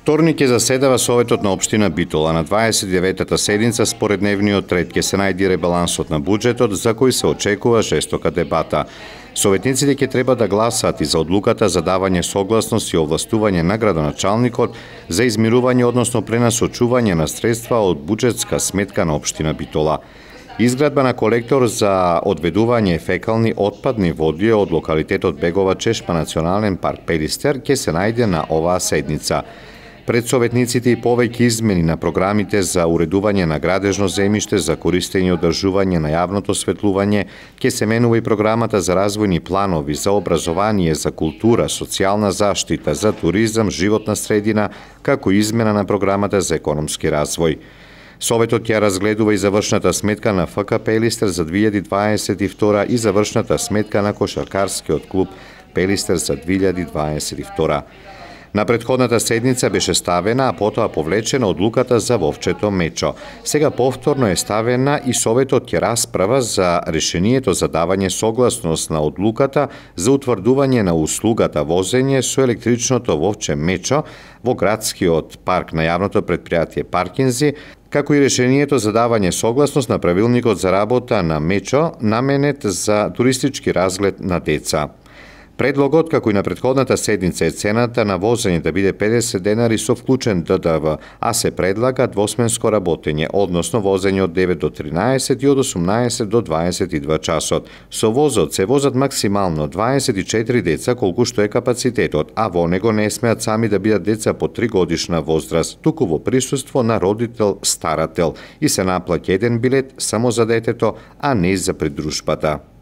Вторник ќе заседава Советот на општина Битола. На 29-та седница според дневниот ред ќе се најди ребалансот на буџетот, за кој се очекува жестока дебата. Советниците ќе треба да гласаат и за одлуката за давање согласност и овластување на градоначалникот за измирување, односно пренасочување на средства од буџетска сметка на општина Битола. Изградба на колектор за одведување фекални отпадни води од локалитетот Бегова Чешма национален парк Пелистер ќе се најде на оваа седница. Пред советниците и повеќе измени на програмите за уредување на градежно земјиште, за користење и одржување на јавното осветлување, ќе се менува и програмата за развојни планови, за образование, за култура, социјална заштита, за туризам, животна средина, како и измена на програмата за економски развој. Советот ќе разгледува и завршната сметка на ФК Пелистер за 2022 и завршната сметка на кошаркарскиот клуб Пелистер за 2022. На претходната седница беше ставена, а потоа повлечена одлуката за Вовчето Мечо. Сега повторно е ставена и Советот ќе расправа за решението за давање согласност на одлуката за утврдување на услугата возење со електричното Вовче Мечо во градскиот парк на јавното претпријатие Паркинзи, како и решението за давање согласност на правилникот за работа на Мечо, наменет за туристички разглед на деца. Предлогот, како и на претходната седница, е цената на возење да биде 50 денари со вклучен ДДВ, а се предлага двосменско работење, односно возење од 9 до 13 и од 18 до 22 часот. Со возот се возат максимално 24 деца, колку што е капацитетот, а во него не смеат сами да бидат деца по 3 годишна возраст, туку во присуство на родител-старател и се наплаќа еден билет само за детето, а не за придружбата.